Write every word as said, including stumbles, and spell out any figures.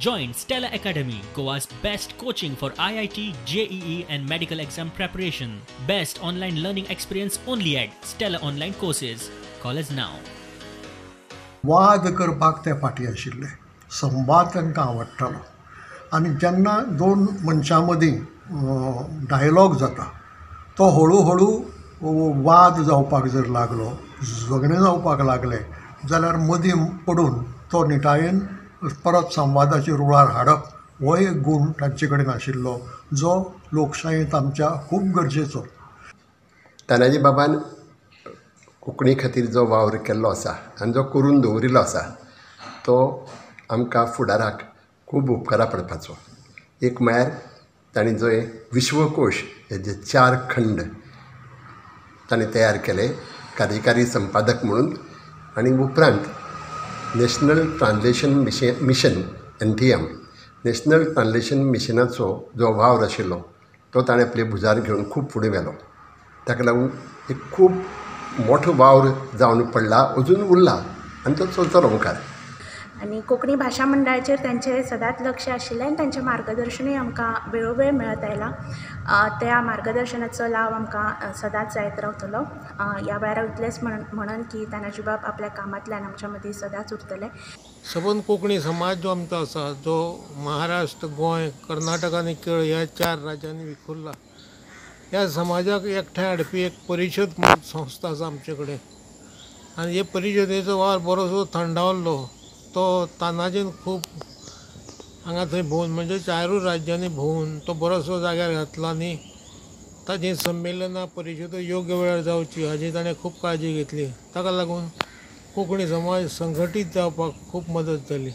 Join Stella Academy, Goa's best coaching for I I T, J E E and medical exam preparation. Best online learning experience only at Stella Online Courses. Call us now. वाद करपाक ते फाटीं आशिल्ले, संवाद तांकां आवडटालो आनी जेन्ना दोन मनशां मदीं डायलॉग जाता तो हळू हळू वाद जावपाक जर लागलो, झगडें जावपाक लागलें जाल्यार मदीं पडून तो निटायेन परत संवादाचे रुळार हाडप हो एक गूण तांचे कडेन आशिल्लो जो लोकशायेंत आमच्या खूब गरजेचो. तानाजी बाबान कोंकणी खातीर जो वावर केल्लो आसा आनी जो करून दवरिल्लो आसा तो आमकां फुडाराक खूब उपकारा पडपाचो. एक म्हळ्यार तांणी जो विश्वकोश हे जे चार खंड तांणी तयार केले कार्यकारी संपादक म्हणून आनी उपरांत national translation mission mission N T M national translation मिशनाचो जो वावर आशिल्लो तो ताणें आपले भुजार घेवन खूब फुडें व्हेलो. ताका लागून एक खूब मोठो वावर जावन पडला, अजून उरला आनी तो चलतलो मुखार. आनी कोंकणी भाशा मंडळाचेर तांचें सदांच लक्ष आशिल्लें आनी तांचें मार्गदर्शनूय आमकां वेळोवेळ मेळत आयलां. त्या मार्गदर्शनाचो लाव आमकां सदांच जायत रावतलो. ह्या वेळार हांव इतलेंच म्हणन की तानाजी बाब आपल्या कामांतल्यान आमच्या मदीं सदांच उरतले. सबंद कोंकणी समाज जो आमचो आसा जो महाराष्ट्र, गोंय, कर्नाटक आनी केरळ ह्या चार राज्यांनी विखुरला, ह्या समाजाक एकठांय हाडपी एक परिशद म्हणून संस्था आसा आमचे कडेन आनी हे परिशदेचो वावर बरोसो थंडावल्लो. तो तानाजीन खूब हांगा थंय भोंवन म्हणजे चारूय राज्यांनी भोंवून तो बरोसो जाग्यार घातलो आनी ताजी संमेलनां परिशदो योग्य वेळार जावची हाजी ताणें खूब काळजी घेतली. ताका लागून कोंकणी समाज संघटीत जावपाक खूब मदत जाली.